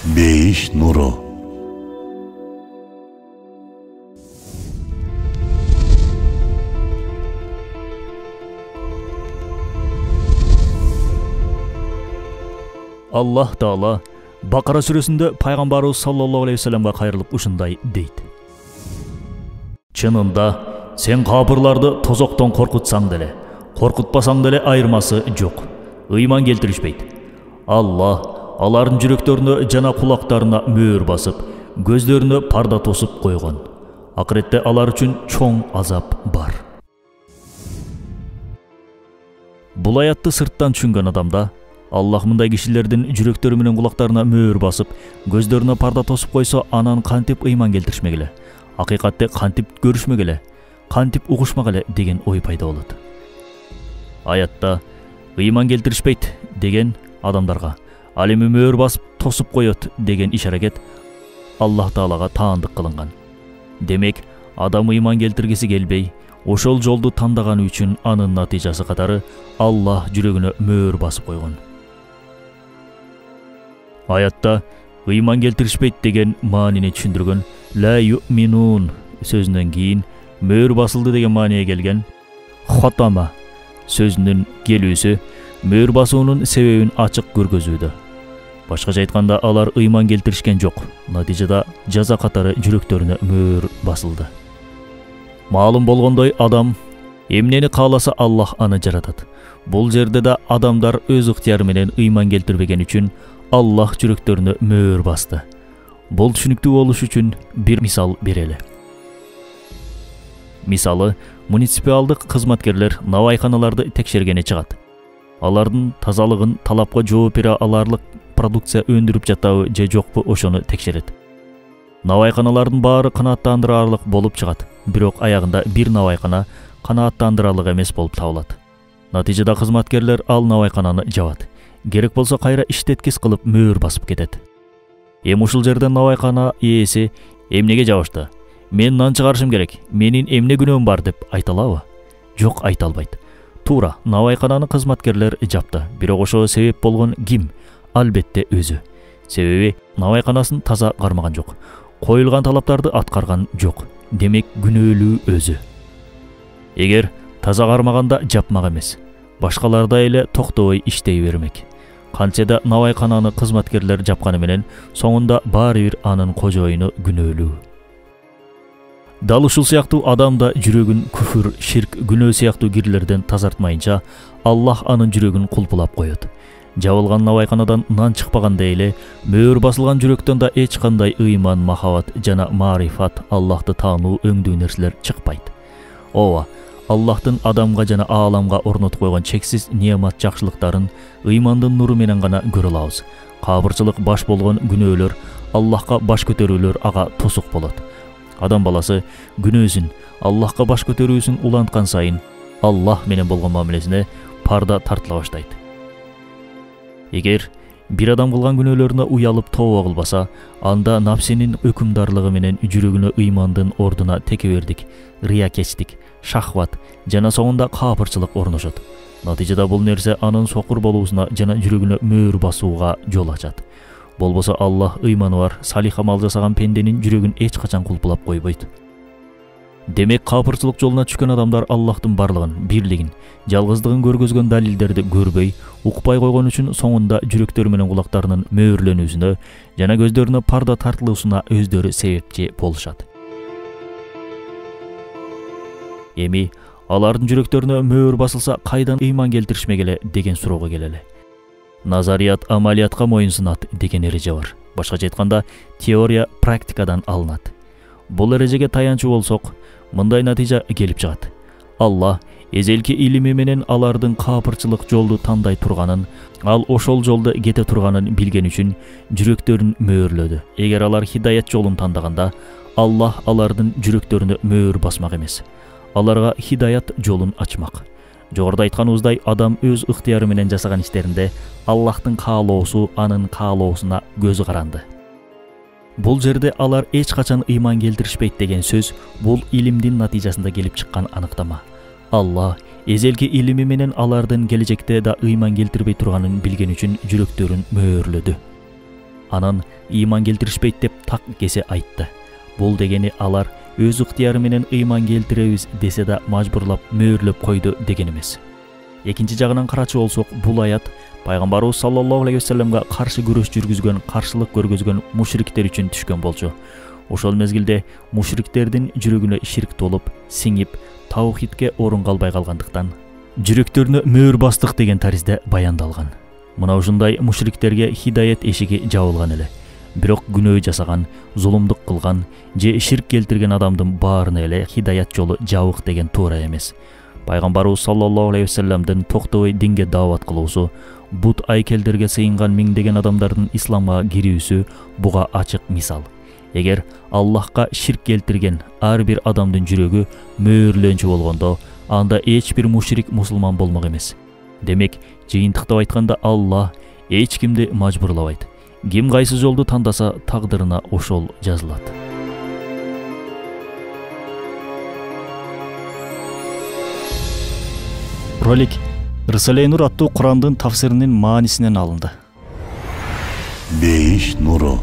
Бейиш нуру. Аллах Таала Бакара сүрөсүндө пайгамбарыбыз саллаллаху алейхи вассаламга кайрылып ушундай дейт. Чынында сен капырларды тозоктон коркутсаң деле, коркутпасаң деле айырмасы жок. Ыйман келтиришпейт. Аллах алардын жүрөктөрүнө жана кулактарына мөөр басып, көздөрүнө парда тосуп койгон. Акыретте алар үчүн чоң азап бар. Бул аятты сырттан түшүнгөн адамда Аллах мындай кишилердин жүрөктөрү менен кулактарына мөөр басып, көздөрүнө парда тосуп койсо, анан кантип ыйман келтиришмек эле? Акыйкатты кантип көрүшмек эле? Кантип угушмак эле деген ой пайда болот. Аятта ыйман келтиришпейт деген адамдарга ал эми мөөр басып тосуп коет деген иш-аракет Аллах Таалага таандык кылынган. Демек, адам ыйман келтиргиси келбей, ошол жолду тандаганы үчүн анын натыйжасы катары Аллах жүрөгүнө мөөр басып койгон. Аятта ыйман келтиришпейт деген маанини түшүндүргөн ла юминун сөзүнөн кийин мөөр басылды деген мааниге келген хотама сөзүнүн келүүсү мөөр басуунун себебин ачык көргөзүүдө. Башкача айтканда, алар ыйман келтиришкен жок. Натыйжада жаза катары жүрөктөрүнө мөөр басылды. Маалым болгондой, адам эмнени кааласа Аллах аны жаратат. Бул жерде да адамдар өз ыктыяры менен ыйман келтирбеген үчүн Аллах жүрөктөрүнө мөөр басты. Бул түшүнүктүү болуш үчүн бир мисал берели. Мисалы, муниципалдык кызматкерлер навайканаларды текшергени чыгат. Алардын тазалыгын, талапка жооп бере аларлык продукция өндүрүп жатабы же жокпу ошону текшерет. Навайканалардын баары канааттандырарлык болуп чыгат, бирок аягында бир навайкана канааттандырарлык эмес болуп табылат. Натыйжада кызматкерлер ал навайкананы жабат. Керек болсо кайра иштеткис кылып мөөр басып кетет. Эми ушул жерден навайкана ээси эмнеге жабышты? Мен нан чыгарышым керек, менин эмне күнөөм бар деп айта алабы? Жок, айта албайт. Туура, навайкананы кызматкерлер жапты. Бирок ошого себеп болгон ким? Албетте өзү. Себеби навайканасын таза кармаган жок. Коюлган талаптарды аткарган жок. Демек, күнөөлүү өзү. Эгер таза кармаганда жапмак эмес, башкаларда эле токтобой иштей бермек. Кантсе да навайкананы кызматкерлер жапканы менен соңунда баары бир анын кожоюну күнөөлүү. Дал ушул сыяктуу адам да жүрөгүн күфүр, ширк, күнөө сыяктуу кирлерден тазартмайынча Аллах анын жүрөгүн кулпулап коет. Жабылган навайканадан нан чыкпагандай эле мөөр басылган жүрөктөн да эч кандай ыйман, махабат жана марифат, Аллахты таануу өңдүү нерселер чыкпайт. Ооба, Аллахтын адамга жана ааламга орнотуп койгон чексиз неамат жакшылыктарын ыймандын нуру менен гана көрө алабыз. Кабырчылык баш болгон күнөөлөр, Аллахка баш көтөрүүлөр ага тосук болот. Адам баласы күнөөсүн, Аллахка баш көтөрүүсүн уланткан сайын Аллах менен болгон мамилесине парда тартыла баштайт. Эгер бир адам кылган күнөөлөрүнө уялып тооба кылбаса, анда напсинин өкүмдарлыгы менен жүрөгүнө ыймандын ордуна текебердик, рыякечтик, шахват жана соңунда капырчылык орношот. Натыйжада бул нерсе анын сокур болуусуна жана жүрөгүнө мөөр басууга жол ачат. Болбосо Аллах ыйманы бар, салих амал жасаган пенденин жүрөгүн эч качан кулпулап койбойт. Демек, капырчылык жолуна түшкөн адамдар Аллахтын барлыгын, бирлигин, жалгыздыгын көргөзгөн далилдерди көрбөй, укпай койгон үчүн соңунда жүрөктөрү менен кулактарынын мөөрленүүсүнө жана көздөрүнө парда тартылуусуна өздөрү себепчи болушат. Эми алардын жүрөктөрүнө мөөр басылса, кайдан ыйман келтиришмек эле деген суроого келели. Назарият амалиятка моюнсунат деген эреже бар. Башкача айтканда, теория практикадан алынат. Бул эрежеге таянчу болсок, мындай натыйжа келип чыгат. Аллах эзелки илими менен алардын капырчылык жолду тандай турганын, ал ошол жолду кете турганын билген үчүн жүрөктөрүн мөөрлөдү. Эгер алар хидаят жолун тандаганда, Аллах алардын жүрөктөрүнө мөөр басмак эмес. Аларга хидаят жолун ачмак. Жогоруда айтканыбыздай, адам өз ыктыяры менен жасаган иштеринде Аллахтын каалоосу анын каалоосуна көзү каранды. Бул жерде алар эч качан ыйман келтиришпейт деген сөз бул илимдин натыйжасында келип чыккан аныктама. Аллах эзелки илими менен алардын келечекте да ыйман келтирбей турганын билген үчүн жүрөктөрүн мөөрлөдү. анан ыйман келтиришпейт деп так кесе айтты. Бул дегени алар өз ыктыяры менен ыйман келтиребиз десе да мажбурлап мөөрлөп койду деген эмес. Экинчи жагынан карачы болсок, бул аят пайгамбарыбыз саллаллаху алейхи вассаламга каршы күрөш жүргүзгөн, каршылык көргөзгөн мушриктер үчүн түшкөн болчу. Ошол мезгилде мушриктердин жүрөгүнө ширк толуп, сиңип, таухидке орун калбай калгандыктан жүрөктөрүнө мөөр бастык деген таризде баяндалган. Мына ушундай мушриктерге хидаят эшиги жабылган эле. Бирок күнөө жасаган, зулумдук кылган же ширк келтирген адамдын баарына эле хидаят жолу жабык деген туура эмес. Пайгамбарыбыз саллаллаху алейхи вассаламдын токтобой динге даават кылуусу, бут айкелдерге сыйынган миңдеген адамдардын исламга кирүүсү буга ачык мисал. Эгер Аллахка ширк келтирген ар бир адамдын жүрөгү мөөрлөнчү болгондо, анда эч бир мушрик мусулман болмок эмес. Демек, жыйынтыктап айтканда Аллах эч кимди мажбурлабайт. Ким кайсы жолду тандаса, тагдырына ошол жазылат. Ролик Рисале Нур аттуу Курандын тафсиринин маанисинен алынды. Бейиш нуру.